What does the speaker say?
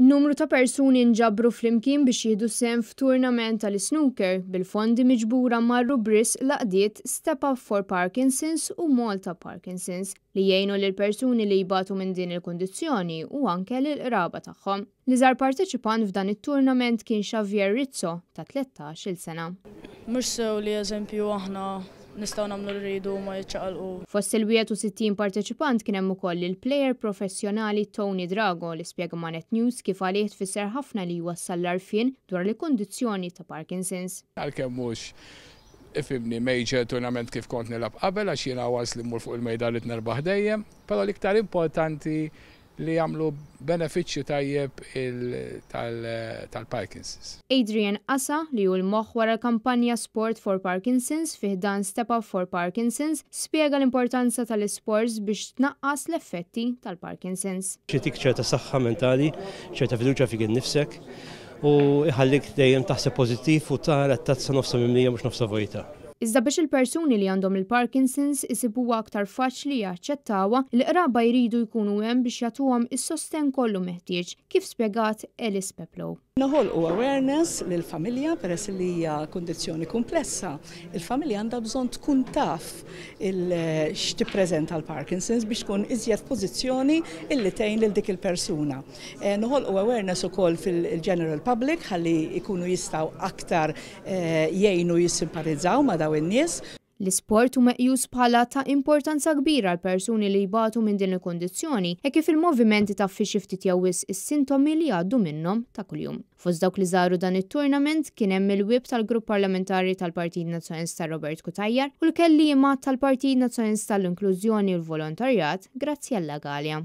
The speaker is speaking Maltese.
Numru ta' persuni nġabru flimkien biex jieħdu sehem f'tournament tal-snooker, bil-fondi miġbura marru b'risq l-għaqdiet Step Up for Parkinson's u Malta Parkinson's li jgħinu lil persuni li jbatu minn din il-kundizzjoni u anke lill-qraba tagħhom. L-iżgħar parteċipant f'dan it-tournament kien Xavier Rizzo ta' 13-il sena. Mhux sew li, eżempju, aħna nistgħu nagħmlu li rridu ma jiċċaqalqu. Fost il-61 parteċipant kien hemm ukoll il-plejer professjonali Tony Drago, li spjega ma' Net News kif għalih tfisser ħafna li jwassal l-għarfien dwar il-kundizzjoni ta' Parkinson's. Għalkemm mhux, ifhimni, major tournament kif kont nilgħab qabel, għax jiena once li mmur fuq il-mejda rrid nerbaħ dejjem, però l-iktar importanti li jagħmlu benefiċċju tajjeb tal-Parkinson's. Adrian Asa, li hu l-moħħ wara l-kampanja Sport for Parkinson's fi ħdan Step Up for Parkinson's, spjega l-importanza tal-isports biex tnaqqas l-effetti tal-Parkinson's. Jagħtik ċerta saħħa mentali, ċerta fiduċja fik innifsek u jħallik dejjem taħseb pożittiv u tara t-tazza nofsa mimlija, mhux nofsa vojta. Iżda biex il-persuni li għandhom il-Parkinson's isibuha aktar faċli jaċċettawha, il-qraba jridu jkunu hemm biex jagħtuhom is-sosten kollu meħtieġ, kif spjegat Alice Peplow. Noħolqu awareness lill-familja peress li hija kundizzjoni komplessa. Il-familja għandha bżonn tkun taf x'tippreżenta l-Parkinson's biex tkun iżjed pożizzjoni illi tgħin lil dik il-persuna. Noħolqu awareness ukoll fil-general public ħalli jkunu jistgħu aktar jgħinu, jissimpatizzaw ma' daw in-nies. L-isport hu meqjus bħala ta' importanza kbira għal persuni li jbatu minn din il-kondizzjoni e kif il-movimenti taffi xi ftit jew wisq is-sintomi li jgħaddu minnhom ta' kuljum. Fost dawk li żaru dan it-tournament kien hemm il-whip tal-Grupp Parlamentari tal-Partit Nazzjonalista Robert Cutajar u l-kelliema tal-Partit Nazzjonalista l-Inklużjoni u l-Volontarjat Graziella Galea.